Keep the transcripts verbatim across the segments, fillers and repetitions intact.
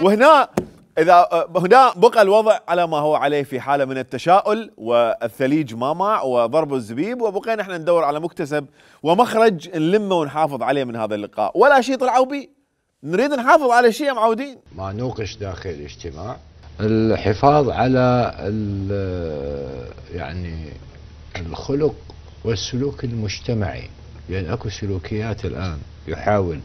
وهنا اذا هنا بقى الوضع على ما هو عليه في حاله من التشاؤل، والثليج مامع وضرب الزبيب، وبقينا احنا ندور على مكتسب ومخرج نلمه ونحافظ عليه من هذا اللقاء، ولا شيء طلعوا بيه. نريد نحافظ على شيء معودين. ما نوقش داخل الاجتماع الحفاظ على يعني الخلق والسلوك المجتمعي، لان اكو سلوكيات الان يحاول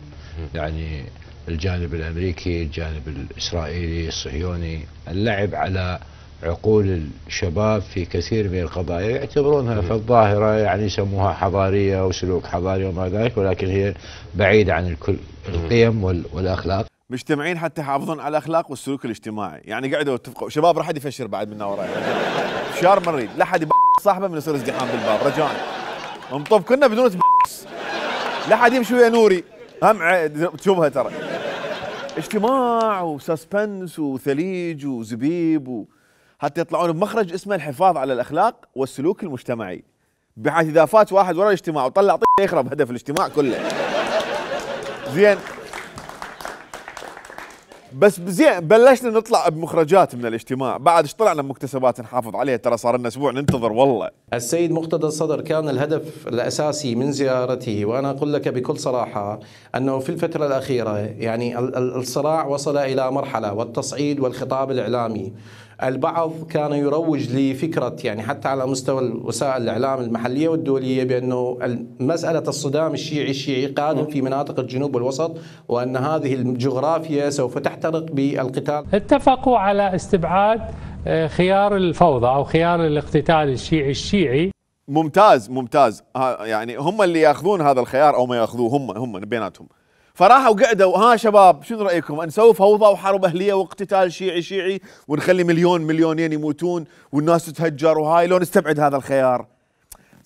يعني الجانب الامريكي، الجانب الاسرائيلي، الصهيوني اللعب على عقول الشباب في كثير من القضايا، يعتبرونها في الظاهره يعني يسموها حضاريه وسلوك حضاري وما ذلك، ولكن هي بعيده عن الكل القيم والاخلاق. مجتمعين حتى يحافظون على الاخلاق والسلوك الاجتماعي، يعني قعدوا اتفقوا شباب راح حد يفشر بعد منا وراي. فشار ما نريد، لا حد صاحبه من يصير ازدحام بالباب رجاء. انطب كنا بدون لا حد يمشي ويا نوري، هم تشوفها ترى. اجتماع وسسبنس وثليج وزبيب و... حتى يطلعون بمخرج اسمه الحفاظ على الاخلاق والسلوك المجتمعي، بحيث اذا فات واحد ورا الاجتماع وطلع طيب يخرب هدف الاجتماع كله. زين بس زين بلشنا نطلع بمخرجات من الاجتماع، بعد ايش طلعنا بمكتسبات نحافظ عليها، ترى صار لنا اسبوع ننتظر والله. السيد مقتدى الصدر كان الهدف الاساسي من زيارته، وانا اقول لك بكل صراحه انه في الفتره الاخيره يعني الصراع وصل الى مرحله، والتصعيد والخطاب الاعلامي البعض كان يروج لفكرة يعني حتى على مستوى وسائل الإعلام المحلية والدولية بأنه مسألة الصدام الشيعي الشيعي قادم في مناطق الجنوب والوسط، وأن هذه الجغرافيا سوف تحترق بالقتال. اتفقوا على استبعاد خيار الفوضى أو خيار الاقتتال الشيعي الشيعي. ممتاز ممتاز، يعني هم اللي ياخذون هذا الخيار أو ما ياخذوه، هم هم بيناتهم. فراحوا قعدوا ها شباب شنو رايكم نسوي فوضى وحرب اهليه واقتتال شيعي شيعي ونخلي مليون مليونين يموتون والناس تتهجر وهاي، لو نستبعد هذا الخيار.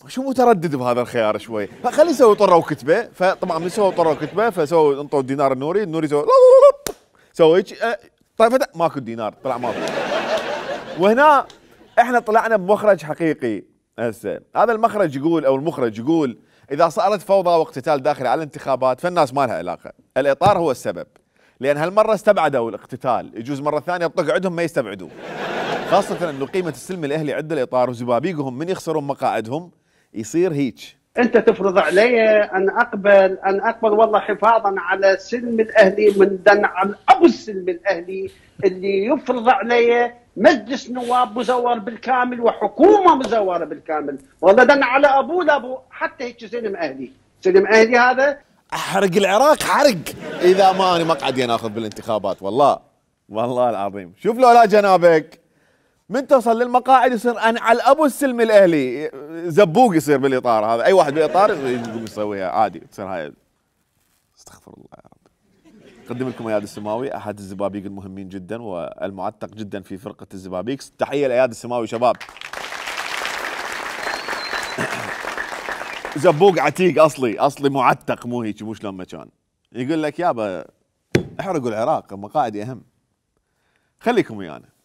شو متردد بهذا الخيار شوي، فخلي يسوي طره وكتبه. فطبعا من سووا طره وكتبه فسووا انطوا الدينار النوري، النوري سوى سوى هيك طيب ماكو دينار طلع ماكو. وهنا احنا طلعنا بمخرج حقيقي. هسه هذا المخرج يقول او المخرج يقول إذا صارت فوضى واقتتال داخلي على الانتخابات فالناس ما لها علاقة، الإطار هو السبب، لأن هالمرة استبعدوا الاقتتال، يجوز مرة ثانية طق عندهم ما يستبعدوه، خاصة أنه قيمة السلم الأهلي عند الإطار وزبابيقهم من يخسرون مقاعدهم يصير هيك. أنت تفرض علي أن أقبل أن أقبل والله حفاظا على السلم الأهلي من دن عن أبو السلم الأهلي اللي يفرض علي مجلس نواب مزور بالكامل وحكومه مزوره بالكامل، والله دن على ابوه لابو حتى هيك سلم اهلي، سلم اهلي هذا احرق العراق حرق اذا ما انا مقعد ناخذ بالانتخابات، والله والله العظيم. شوف لو لا جنابك من توصل للمقاعد يصير انا على ابو السلم الاهلي زبوق يصير بالاطار هذا، اي واحد بالاطار يقوم يسويها عادي تصير هاي. استغفر الله يا رب. أقدم لكم اياد السماوي احد الزبابيق المهمين جدا والمعتق جدا في فرقه الزبابيق. تحيه لاياد السماوي شباب. زبوق عتيق اصلي اصلي معتق مو هيك مو شلون ما كان. يقول لك يابا احرقوا العراق مقاعدي اهم. خليكم ويانا.